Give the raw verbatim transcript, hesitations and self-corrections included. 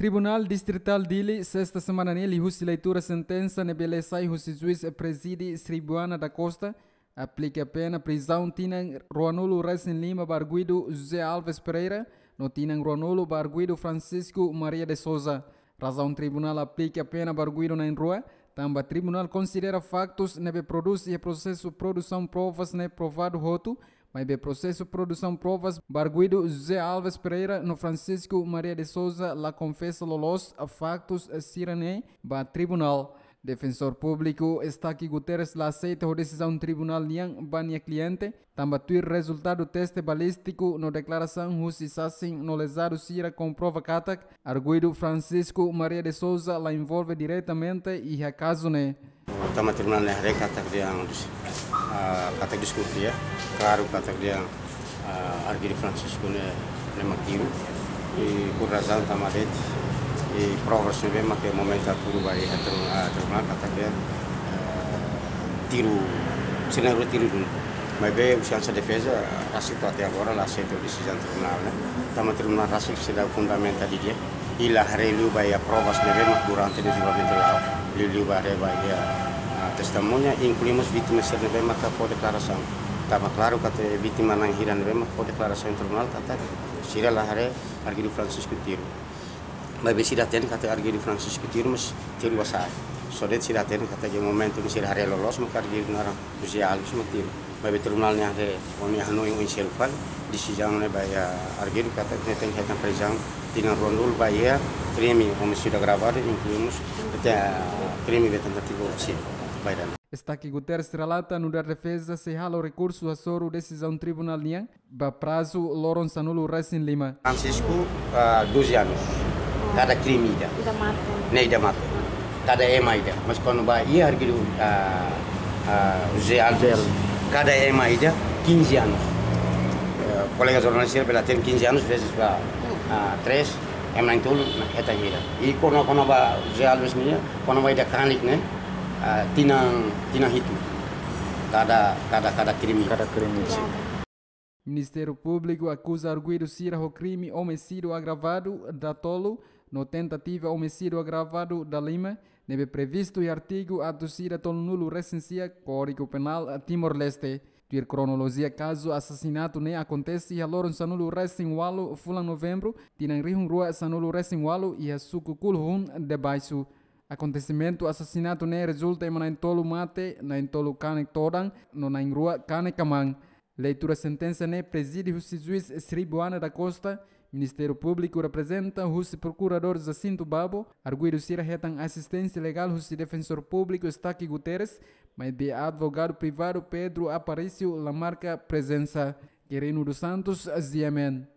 Tribunál Distritál Dili, sesta semana ne'e, liuhusi leitura sentensa ne'ebé sai husi juís prezide Sribuana da Costa, aplika pena prizaun tinan ruanulu resin lima ba arguidu José Alves Pereira, no tinan ruanulu ba arguidu Francisco Maria de Souza. Razaun tribunál aplika pena ba arguidu na'in-rua, tanba tribunál konsidera faktus ne'ebé prodús iha prosesu produsaun provas ne'e provadu hotu, maibé prosesu produsaun provas ba arguidu José Alves Pereira no Francisco Maria de Souza la konfesa loloos faktus sira-ne'e ba tribunál. Defensór Públiku Estaque Guterres la aseita ho desizaun tribunál nian ba nia kliente, tanba tuir rezultadu teste balístiku no deklarasaun husi sasin no lezadu sira komprova katak arguidu Francisco Maria de Souza la envolve diretamente iha kazu ne'e. Tanba tribunál ne'e haree katak dehan, ah, katak deskonfia, klaru katak dehan, ah, arguidu Francisco ne'e, ne'e mak tiru. I por razaun tanba de'it, i provas ne'ebé mak iha momentu hatudu ba iha tri-, ah, tribunál katak dehan, ah, tiru, sira na'in-rua tiru duni. Maibé husi hanesan defeza, rasik to'o até agora la aseita desizaun tribunál ne'e. Tanba tribunál rasik seidauk fundamenta didi'ak. I la haree liu ba iha provas ne'ebé mak durante dezenvolvimentu la'o. Liuliu ba haree ba iha, ah, testemuña, inklui mós vítima sira ne'ebé mak fó deklarasaun. Tanba klaru katak vítima na'in hira ne'ebé mak fó deklarasaun iha tribunál katak sira la haree arguidu Francisco tiru. Maibé sira hatene katak arguidu Francisco tiru, mas tiru ba sa'e. Só de'it sira hatene katak iha momentu ne'e sira haree loloos mak arguidu naran José Alves mak tiru. Maibé tribunál ne'e haree, o nia hanoin oin seluk fali, desizaun ne'e ba iha arguidu katak ne'e tenke hetan prizaun tinan ruanulu ba iha krime omisídiu agravadu, inklui mós, ah, krime ba tentativa omisídiu. Ba iha ne'e. Estaque Guterres relata nu'udar defeza sei halo rekursu hasoru desizaun tribunál nian ba prazu loron sanulu resin lima. Francisco, ah, doze anos. Kada krime ida. Ida mate. Ne'e ida mate. Kada ema ida. Mas kuandu ba iha arguidu, ah, ah, José Alves, José Alves, kada ema ida, quinze anos. Eh, kolega jornalista bele hatene quinze anos vezes ba, ah, três, ema na'in-tolu, ne'e hetan hira. I kona, kona-ba José Alves nian, kona-ba ida kanek ne'e, ah, tinan, tinan hitu. Kada, kada, kada krime. Kada krime. Sin. Ministériu Públiku akuza arguidu sira ho krime omisídiu agravadu datolu no tentativa omisídiu agravadu dalima, ne'ebé previstu iha artigu atus ida tolunulu resin sia Kódigu Penál Timor-Leste. Tuir kronolojia kazu asasinatu ne'e akontese iha loron sanulu resin ualu fulan Novembru, tinan rihun rua sanulu resin ualu iha suku Kuluhun de Baixo. Akontesimentu asasinatu ne'e rezulta ema na'in-tolu mate, na'in-tolu kanek todan, no na'in-rua kanek kaman. Leitura sentensa ne'e prezide husi juís Sribuana da Costa, Ministériu Públiku reprezenta husi Prokuradór Jacinto Babo, arguidu sira hetan asisténsia legál husi Defensór Públiku Estaque Guterres, maibé advogadu privadu Pedro Aparício la marka prezensa. Quirino dos Santos, G M N.